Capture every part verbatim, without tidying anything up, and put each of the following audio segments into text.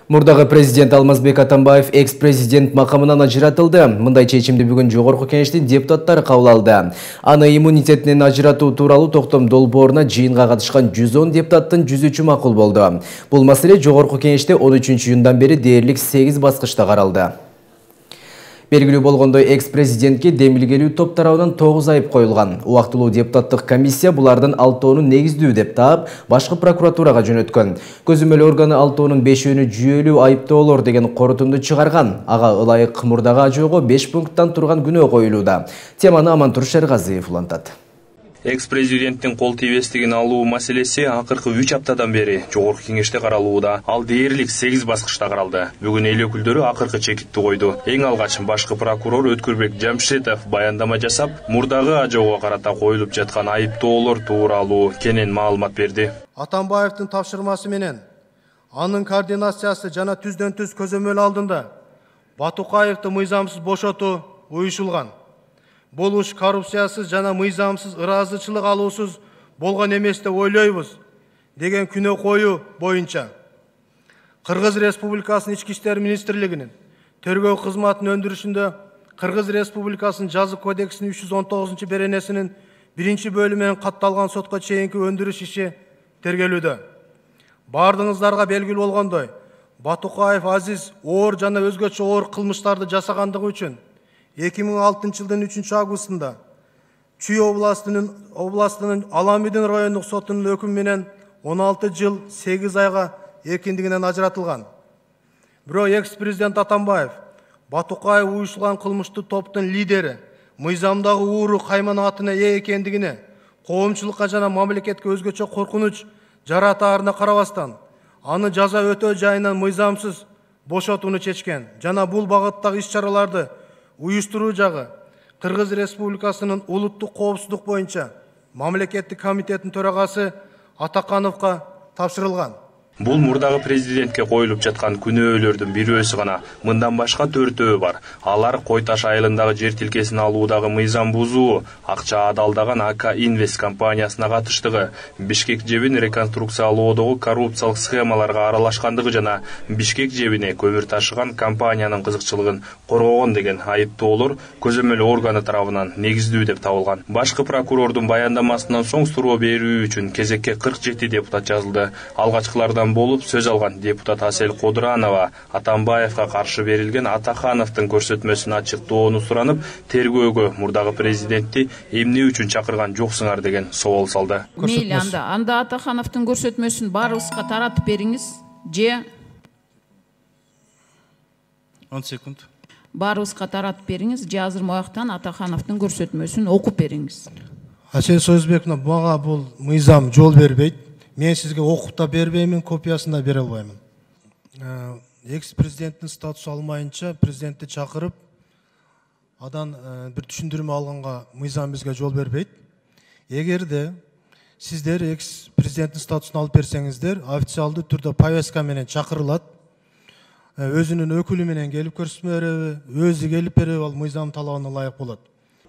Мурдагы президент Алмазбек Атамбаев экс-президент макамынан ажыратылды. Мындай чечимди бүгүн Жогорку Кеңештин депутаттары кабыл алды. Аны иммунитетинен ажыратуу тууралуу токтом долбооруна жыйынга катышкан жүз он депутаттын жүз үчү макул болду. Бул маселе Жогорку Кеңеште он үчүнчү июндан бери дээрлик сегиз баскычта каралды. Белгилүү болгондой, экс-президентке демилгелүү топ тарабынан тогуз айып коюлган. Убактылуу депутаттык комиссия булардын алтоонун негиздүү деп таап, башкы прокуратурага жөнөткөн. Көзөмөл органы алтоонун бешөөнү жүйөлүү айыптоолор деген корутунду чыгарган. Ага ылайык мурдагы ажоого беш пункттан турган күнөө коюлууда. Теманы Амантур Шергазиев улантат. Экс-президенттин кол тийбестигин алуу маселеси акыркы үч аптадан бери Жогорку Кеңеште каралууда. Ал дээрлик сегиз баскычта каралды. Бүгүн эл өкүлдөрү акыркы чекитти койду. Эң алгач башкы прокурор Өткүрбек Жамшитов баяндама жасап, мурдагы ажоого карата коюлуп жаткан айыптоолор тууралуу кенен маалымат берди. Атамбаевдин тапшырмасы менен анын координациясы жана түздөн түз көзөмөл алдында Батукаевди мыйзамсыз бошотуу уюшулган. Бул иш коррупциясыз жана мыйзамсыз ыраазычылык алуусуз болгон эмес деп ойлойбуз деген күнөө коюу боюнча Кыргыз Республикасынын Ички иштер министрлигинин тергөө кызматынын өндүрүшүндө Кыргыз Республикасынын жазык кодексинин үч жүз он тогузунчу беренесинин биринчи бөлүмүнөн катталган сотко чейинки өндүрүш иши тергелүүдө. Бардыгыңыздарга белгилүү болгондой, Батукаев Азиз оор жана өзгөчө оор кылмыштарды жасагандыгы үчүн эки миң алтынчы жылдын үчүнчү августунда Чүй областынын областынын Аламидин райондук сотунун өкүмү менен он алты жыл сегиз айга эркиндигинен ажыратылган. Бирок экс-президент Атамбаев Батукаев уюшулган кылмыштуу топтун лидери мыйзамдагы ууру кайманатына ээ экендигине, коомчулукка жана мамлекетке өзгөчө коркунуч жаратаарына карабастан, аны жаза өтөө жайынан мыйзамсыз бошотууну чечкен жана бул багыттагы иш-чараларды уюштуруу жагы Кыргыз Республикасынын улуттук коопсуздук боюнча мамлекеттик комитеттин төрагасы Атакановго тапшырылган. Бул мурдагы президентке коюлуп жаткан күнөөлөрдүн бирөөсү гана. Мындан башка төртөө бар. Алар Кой Таш айылындагы жер тилкесин алуудагы мыйзам бузуу, акча адалдаган АК Инвест компаниясына катыштыгы, Бишкек жебин реконструкциялоодогу коррупциялык схемаларга аралашкандыгы жана Бишкек жебине көмүр ташыган компаниянын кызыкчылыгын коргогон деген айыптоолор көзөмөл органы тарабынан негиздүү деп табылган. Башкы прокурордун баяндамасынан соң суроо берүү үчүн кезекке кырк жети депутат жазылды. Алгачкылардан болуп сөз алган депутат Асель Кодуранова Атамбаевга каршы берилген Атахановдун көрсөтмөсүн ачыктоону суранып, тергөөгө мурдагы президентти эмне үчүн чакырган жоксуңар деген собол салды. Мейли, анда анда Атахановдун көрсөтмөсүн баарыбызга таратып бериңиз, же он секунд. Баарыбызга таратып бериңиз, же азыр мояктан Атахановдун көрсөтмөсүн окуп бериңиз. Асель Сөзбековна, мага бул мыйзам жол бербейт. Мен сизге окуп да бербеймин, копиясын да бере албаймын. Экс-президенттин статусу алмайынча президентти чакырып, адан бир түшүндүрмө алганга мыйзам бизге жол бербейт. Эгерде сиздер экс-президенттин статусун алып берсеңиздер, официалдуу түрдө повестка менен чакырылат. Өзүнүн өкүлү менен келип көрсөтмө береби, өзү келип береби, ал мыйзам талабына ылайык болот.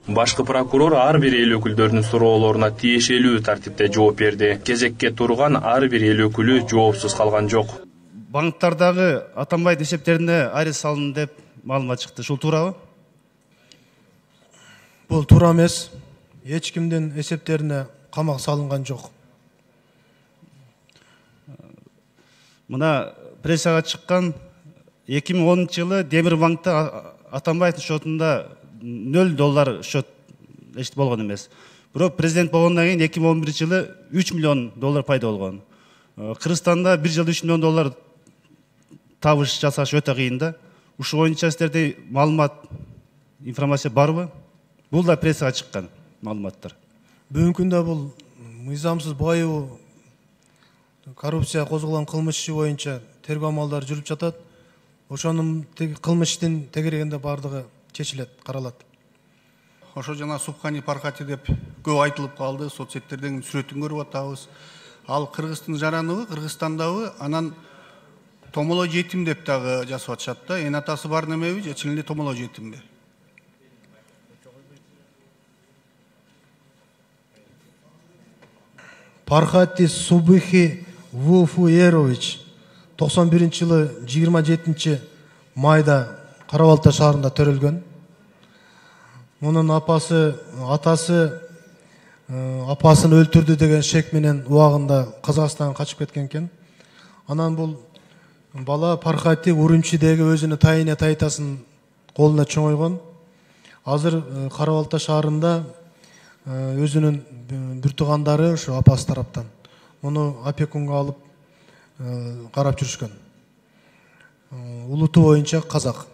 Башкы прокурор ар бир эл өкүлдөрүнүн суроолоруна тиешелүү тартипте жооп берди. Кезекке турган ар бир эл өкүлү жоопсуз калган жок. Банктардагы Атамбаевдин эсептерине арест салынды деп маалымат чыкты. Ушул туурабы? Бул туура эмес. Эч кимдин эсептерине камак салынган жок. Мына прессага чыккан эки миң онунчу жылы Демир банкта Атамбаевдин шотунда нөл доллар счет эч болгон эмес. Бирок президент болгондон кийин эки миң он биринчи жылы үч миллион доллар пайда болгон. Кыргызстанда бир жылда үч миллион доллар табыш жасаш өтө кыйын да. Ушул боюнча сиздерде маалымат, информация барбы? Бул да прессага чыккан маалыматтар. Бүгүнкү күндө бул мыйзамсыз байоо, коррупция козголгон кылмыш иши боюнча тергөө амалдары жүрүп жатат. Ошонун кылмыштын тегерегинде бардыгы чечилет, каралат. Ошо жана Субхани Пархати деп көп айтылып калды, соцсеттерден сүрөтүн көрүп атабыз. Ал Кыргыздын жараныбы, Кыргызстандабы, анан томоло жетим деп дагы жазып атышат да. Эне атасы бар немеби, же чын эле томоло жетимби? Пархати Субхи Вуфуерович токсон биринчи жылы жыйырма жетинчи майда Кара Балта шаарында төрөлгөн. Мунун апасы, атасы апасын өлтүрдү деген шек менен убагында Казакстанга качып кеткен экен. Анан бул бала Пархати Урумчидеги өзүнүн тайыне тайтасын колуна чоңойгон. Азыр Кара Балта шаарында өзүнүн бир туугандары ошо апасы тараптан муну опекунга алып карап жүрүшкөн. Улуту боюнча казак.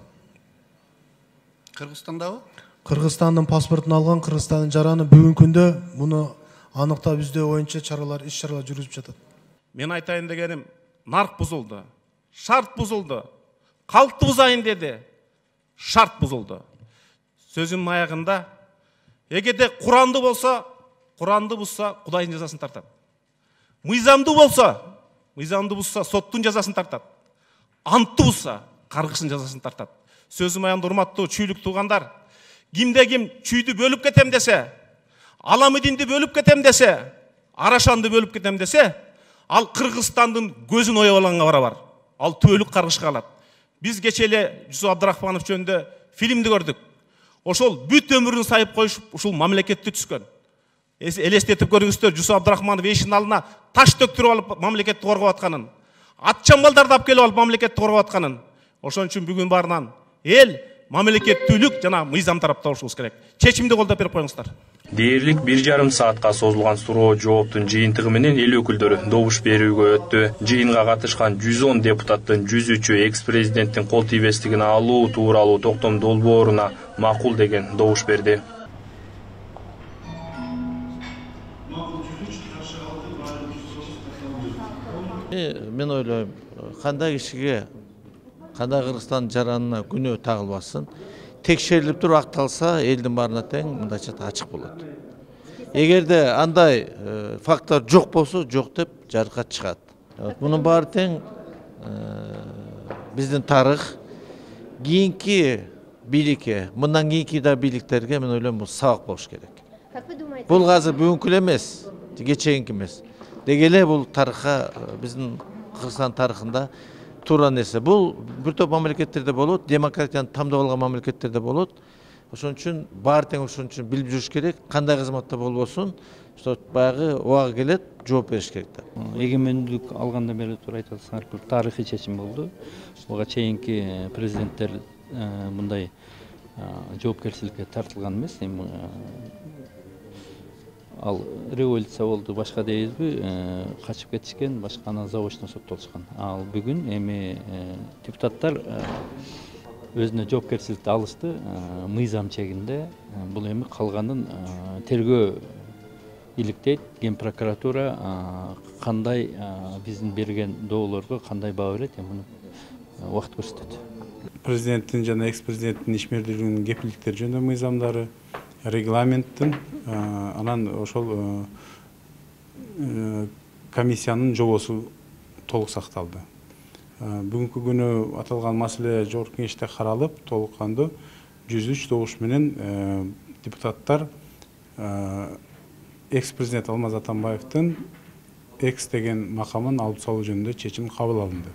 Кыргызстандабы? Кыргызстандын паспортун алган, Кыргызстандын жараны бүгүнкү күндө муну аныктап издөө боюнча чаралар, иш чаралар жүрүзүп жатат. Мен айтайын дегеним, нарк бузулду, шарт бузулду, калкты бузайын деди, шарт бузулду. Сөзүмдүн аягында, эгерде Куранды болсо, Куранды бузса, Кудайдын жазасын тартат. Мыйзамды болсо, мыйзамды бузса, соттун жазасын тартат. Антты бузса, каргыштын жазасын тартат. Сөзүм аягында, урматтуу чүйлүк туугандар, кимде ким чүйдү бөлүп кетем десе, Аламидинди бөлүп кетем десе, Арашанды бөлүп кетем десе, ал Кыргызстандын көзүн оюп алганга барабар. Ал түбөлүк каргышка алат. Биз кече эле Жусуп Абдрахманов жөнүндө фильмди көрдүк. Ошол бүт өмүрүн сайып коюшуп, ушул мамлекетти түзгөн. Элестетип көрүңүздөр, Жусуп Абдрахманов эшиктин алдына таш төктүрүп алып мамлекетти коргоп атканын, атчамбалдарды алып келип алып мамлекетти коргоп атканын. Ошон үчүн бүгүн барынан эл мамлекеттүүлүк жана мыйзам тарапта болушубуз керек. Чечимди колдоп берип коюңуздар. Дээрлик бир жарым саатка созулган суроо жооптун жыйынтыгы менен эл өкүлдөрү добуш берүүгө өттү. Жыйынга катышкан жүз он депутаттын жүз үчү экс-президенттин кол тийбестигин алуу тууралуу токтом долбооруна макул деген добуш берди. Мен ойлойм, кандай кишиге, кандай Кыргызстандын жаранына күнөө тагылбасын. Текшерилип туруп акталса, элдин баарына тең мындайча ачык болот. Эгерде андай факттар жок болсо, жок деп жарыкка чыгат. Мунун баары тең биздин тарых, кийинки бийликке, мындан кийинки да бийликтерге мен ойлойм бул сабак болуш керек. Бул азыр бүгүнкү эле эмес, кечээинки эмес. Деги эле бул тарыхка, биздин Кыргызстан тарыхында туура нерсе. Бул бир топ мамлекеттерде болот, демократияны тамдап алган мамлекеттерде болот. Ошон үчүн баары тең ошон үчүн билип жүрүш керек. Кандай кызматта болбосун, что баягы убагы келет, жооп бериш керек да. Эгемендүүлүк алгандан бери туура айтып атсаңар, бул тарыхый чечим болду. Буга чейинки президенттер мындай жоопкерчиликке тартылган эмес. Ал революция болду, башка дейбизби, качып кетишкен, башка анан заочно соттолушкан. Ал бүгүн эми депутаттар өзүнө жоопкерчиликти алышты, мыйзам чегинде. Бул эми калганын тергөө иликтейт, Ген прокуратура кандай биздин берген доолорго кандай баа берет, эми муну убакыт көрсөтөт. Президенттин жана экс-президенттин ишмердүүлүгүнүн кепилдиктери жөнүндө мыйзамдары, регламенттин, анан ошол комиссиянын жобосу толук сакталды. Бүгүнкү күнү аталган маселе жогорку кеңеште каралып, толук кандуу жүз үч добуш менен депутаттар экс-президент Алмаз Атамбаевдин экс деген макамын алып салуу жөнүндө чечим кабыл алынды.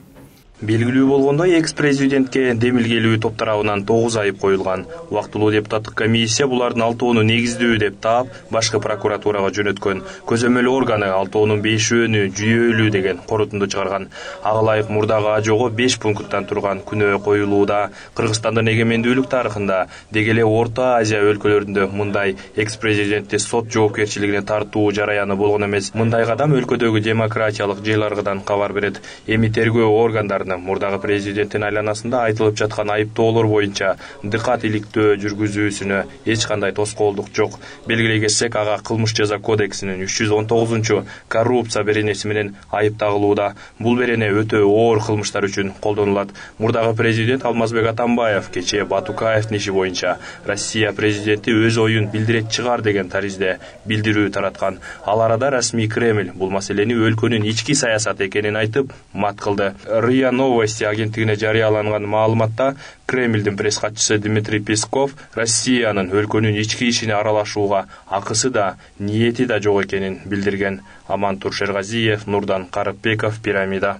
Белгилүү болгондой, экс-президентке демилгелүү топ тарабынан тогуз айып коюлган. Убактылуу депутаттык комиссия булардын алтоону негиздүү деп таап, башкы прокуратурага жөнөткөн. Көзөмөл органы алтоонун бешөөнү жүйөлүү деген корутунду чыгарган. Ага ылайык мурдагы ажоого беш пункттан турган күнөө коюлууда. Кыргызстандын эгемендүүлүк тарыхында деги эле Орто Азия өлкөлөрүндө мындай экс-президентти сот жоопкерчилигине тартуу жараяны болгон эмес. Мындай кадам өлкөдөгү демократиялык жыйларгыдан кабар берет. Эми тергөө органдары мурдагы президенттин айланасында айтылып жаткан айыптоолор боюнча дыкат иликтөө жүргүзүүсүнө эч кандай тоскоолдук жок. Белгилей кетсек, ага кылмыш жаза кодексинин үч жүз он тогузунчу коррупция беренеси менен айып тагылууда. Бул берене өтө оор кылмыштар үчүн колдонулат. Мурдагы президент Алмазбек Атамбаев кечээ Батукаевдин иши боюнча Россия президенти өз оюн билдирет чыгар деген таризде билдирүү тараткан. Ал арада расмий Кремль бул маселени өлкөнүн ички саясаты экенин айтып мат кылды. РИА Новости агенттигине жарыяланган маалыматта Кремлдин пресс катчысы Дмитрий Песков Россиянын өлкөнүн ички ишине аралашууга акысы да, ниети да жок экенин билдирген. Амантур Шергазиев, Нурдан Карыпбеков, Пирамида.